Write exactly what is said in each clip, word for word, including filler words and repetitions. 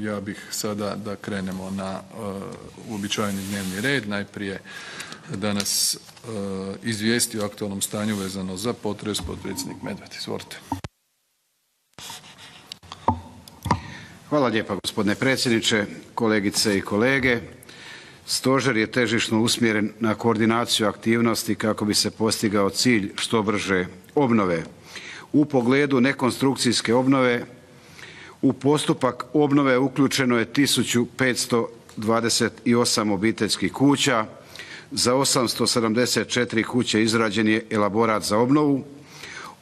Ja bih sada da krenemo na uobičajeni dnevni red. Najprije da nas izvijesti o aktualnom stanju vezano za potres potpredsjednik Medved. Izvolite. Hvala lijepa gospodine predsjedniče, kolegice i kolege. Stožer je težišno usmjeren na koordinaciju aktivnosti kako bi se postigao cilj što brže obnove. U pogledu nekonstrukcijske obnove u postupak obnove uključeno je tisuću petsto dvadeset osam obiteljskih kuća, za osamsto sedamdeset četiri kuće izrađen je elaborat za obnovu,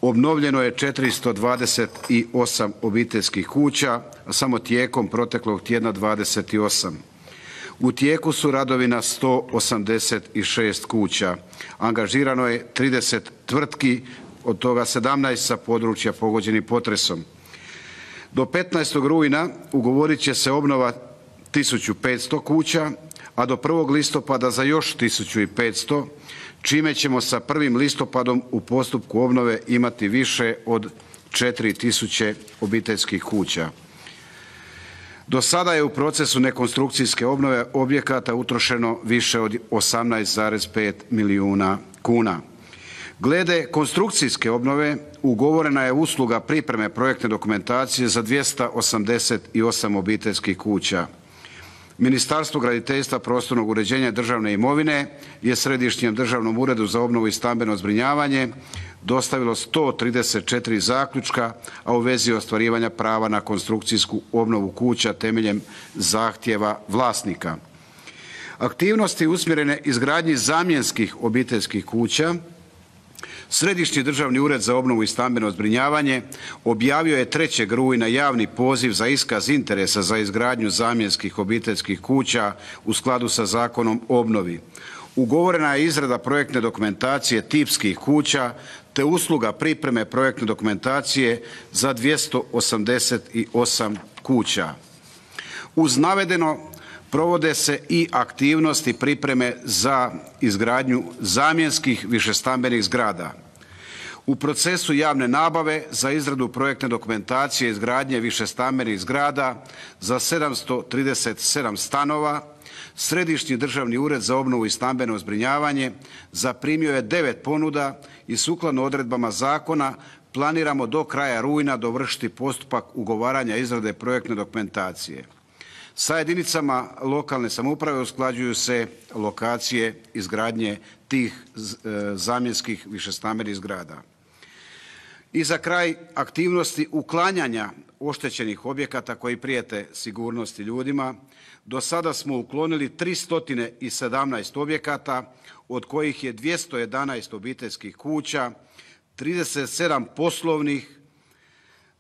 obnovljeno je četiristo dvadeset osam obiteljskih kuća, a samo tijekom proteklog tjedna dvadeset osam. U tijeku su radovi na sto osamdeset šest kuća. Angažirano je trideset tvrtki, od toga sedamnaest sa područja pogođenih potresom. Do petnaestog rujna ugovorit će se obnova tisuću petsto kuća, a do prvog listopada za još tisuću petsto, čime ćemo sa prvim listopadom u postupku obnove imati više od četiri tisuće obiteljskih kuća. Do sada je u procesu nekonstrukcijske obnove objekata utrošeno više od osamnaest zarez pet milijuna kuna. Glede konstrukcijske obnove ugovorena je usluga pripreme projektne dokumentacije za dvjesto osamdeset osam obiteljskih kuća. Ministarstvo graditeljstva, prostornog uređenja i državne imovine je Središnjem državnom uredu za obnovu i stambeno zbrinjavanje dostavilo sto trideset četiri zaključka, a u vezi ostvarivanja prava na konstrukcijsku obnovu kuća temeljem zahtjeva vlasnika. Aktivnosti usmjerene izgradnji zamjenskih obiteljskih kuća Središnji državni ured za obnovu i stambeno zbrinjavanje objavio je trećeg rujna javni poziv za iskaz interesa za izgradnju zamjenskih obiteljskih kuća u skladu sa Zakonom o obnovi. Ugovorena je izrada projektne dokumentacije tipskih kuća te usluga pripreme projektne dokumentacije za dvjesto osamdeset osam kuća. Uz navedeno provode se i aktivnosti pripreme za izgradnju zamjenskih višestambenih zgrada. U procesu javne nabave za izradu projektne dokumentacije izgradnje višestambenih zgrada za sedamsto trideset sedam stanova Središnji državni ured za obnovu i stambeno zbrinjavanje zaprimio je devet ponuda i sukladno odredbama zakona planiramo do kraja rujna dovršiti postupak ugovaranja izrade projektne dokumentacije. Sa jedinicama lokalne samouprave usklađuju se lokacije izgradnje tih zamjenskih višestambenih zgrada. I za kraj, aktivnosti uklanjanja oštećenih objekata koji prijete sigurnosti ljudima. Do sada smo uklonili tristo sedamnaest objekata, od kojih je dvjesto jedanaest obiteljskih kuća, trideset sedam poslovnih,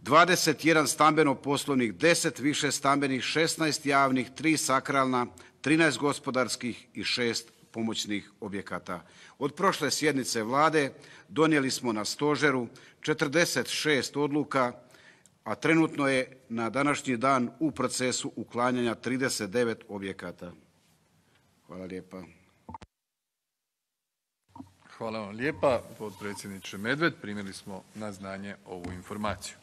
dvadeset jedan stambeno-poslovnih, deset višestambenih, šesnaest javnih, tri sakralna, trinaest gospodarskih i šest pomoćnih objekata. Od prošle sjednice Vlade donijeli smo na stožeru četrdeset šest odluka, a trenutno je na današnji dan u procesu uklanjanja trideset devet objekata. Hvala lijepa. Hvala vam lijepa, potpredsjedniče Medved. Primili smo na znanje ovu informaciju.